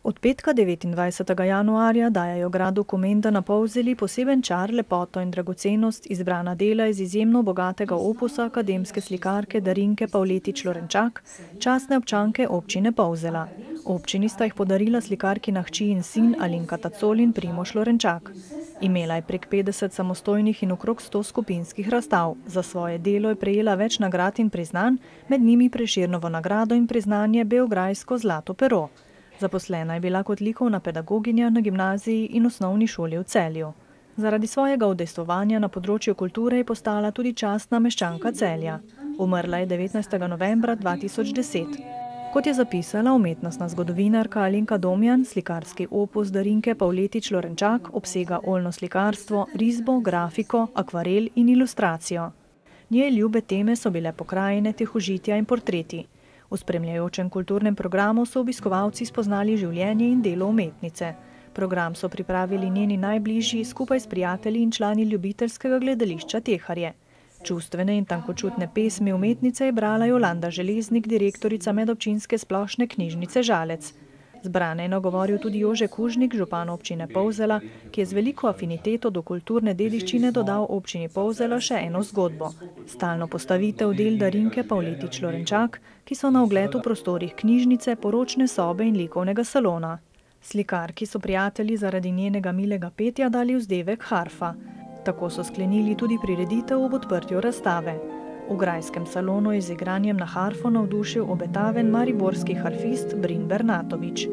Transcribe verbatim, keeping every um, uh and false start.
Od petka devetindvajsetega januarja dajajo gradu Komenda na Polzeli poseben čar, lepoto in dragocenost izbrana dela iz izjemno bogatega opusa akademske slikarke Darinke Pavletič Lorenčak, častne občanke občine Polzela. Občini sta jih podarila slikarkina hči in sin Alenka Tacol in Primož Lorenčak. Imela je prek petdeset samostojnih in okrog sto skupinskih razstav. Za svoje delo je prejela več nagrad in priznanj, med njimi Prešernovo nagrado in priznanje beograjsko zlato pero. Zaposlena je bila kot likovna pedagoginja na gimnaziji in osnovni šoli v Celju. Zaradi svojega udejstvovanja na področju kulture je postala tudi častna meščanka Celja. Umrla je devetnajstega novembra dva tisoč deset. Kot je zapisala umetnostna zgodovinarka Alenka Domjan, slikarski opus Darinke Pavletič Lorenčak obsega oljno slikarstvo, risbo, grafiko, akvarel in ilustracijo. Njej ljube teme so bile pokrajine, tihožitja in portreti. V spremljajočem kulturnem programu so obiskovalci spoznali življenje in delo umetnice. Program so pripravili njeni najbližji skupaj s prijatelji in člani ljubiteljskega gledališča Teharje. Čustvene in tankočutne pesmi umetnice je brala Jolanda Železnik, direktorica medobčinske splošne knjižnice Žalec. Zbrane je nagovoril tudi Jože Kužnik, župan občine Polzela, ki je z veliko afiniteto do kulturne dediščine dodal občini Polzela še eno zgodbo. Stalno postavitev del Darinke Pavletič Lorenčak, ki so na ogled v prostorih knjižnice, poročne sobe in likovnega salona. Slikarki so prijatelji zaradi njenega milega petja dali vzdevek Harfa. Tako so sklenili tudi prireditev ob odprtju razstave. V grajskem salonu je z igranjem na harfo navdušil obetaven mariborski harfist Brin Bernatovič.